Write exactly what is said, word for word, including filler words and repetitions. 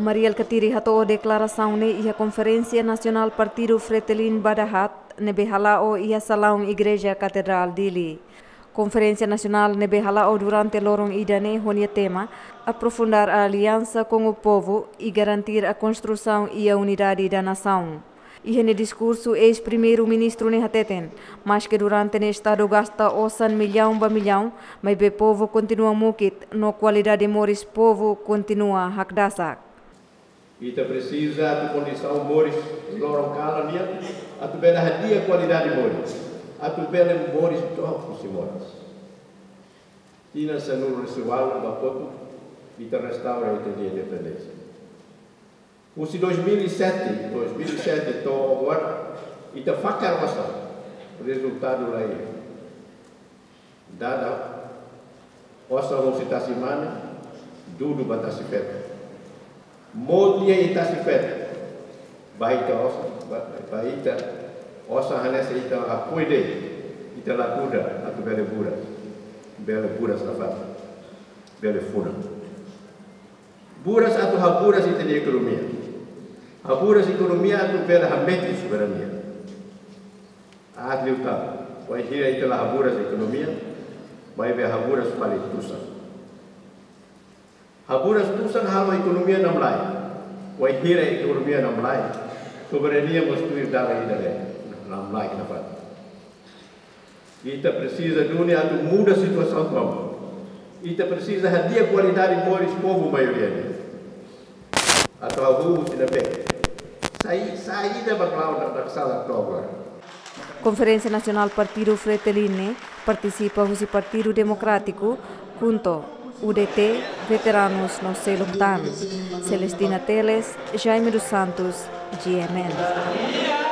Mari Alkatiri hato'o deklarasaun ne'e iha Konferénsia Nasionál Partidu Fretilin ba dahaat ne'ebé hala'o iha salaun Igreja Katedrál Dili. Konferénsia Nasionál ne'ebé hala'o durante loron ida-ne'e ho nia tema Aprofundar a Aliança com o Povo e Garantir a Construção e a Unidade da Nação. Iha nia diskursu, eis-Primeiru-Ministru ne'e hateten, maske durante ne'e Estadu gasta osan millaun ba millaun, maibé povu kontinua mukit, no kualidade moris povu kontinua hakdasak. Ita presiza atu kondisaun moris loron kalan nian, atu bele hadi'a kualidade moris, atu bele moris dook husi moras. Tinan sanulu-resin-ualu ba kotuk, ita restaura ita-nia independénsia. Husi dois mil e sete, dois mil e sete to'o agora, ita fakar osan, rezultadu la iha. Dada osan husi tasi mane, dudu ba tasi feto. Mout iha tasi feto, ba ita osan, ba, ba ita osan hanesan ita akui de'it, ita la kuda, atu bele buras, bele buras nafatin, bele funa. Buras atu haburas ita-nia ekonomia. Haburas ekonomia atu bele hametin soberania. Aat liután, wainhira ita la haburas ekonomia, maibé haburas fali tusan. Haburas tusan halo ekonomia namlaik. Wainhira ekonomia namlaik, soberania mós tuir dalan ida de'it, namlaik nafatin. Ita presiza duni atu muda situasaun tomak. Ita presiza hadi'a kualidade moris povu maioria nian. Atu hahú husi ne'ebé? Sai, saida ba klaun da sala toba. Konferénsia Nasionál Partidu Fretilin ne'e partisipa husi Partidu Demokrátiku, KHUNTO, U D T, veteranus no seluk tan. Celestina Teles, Jaime dos Santos, G M N.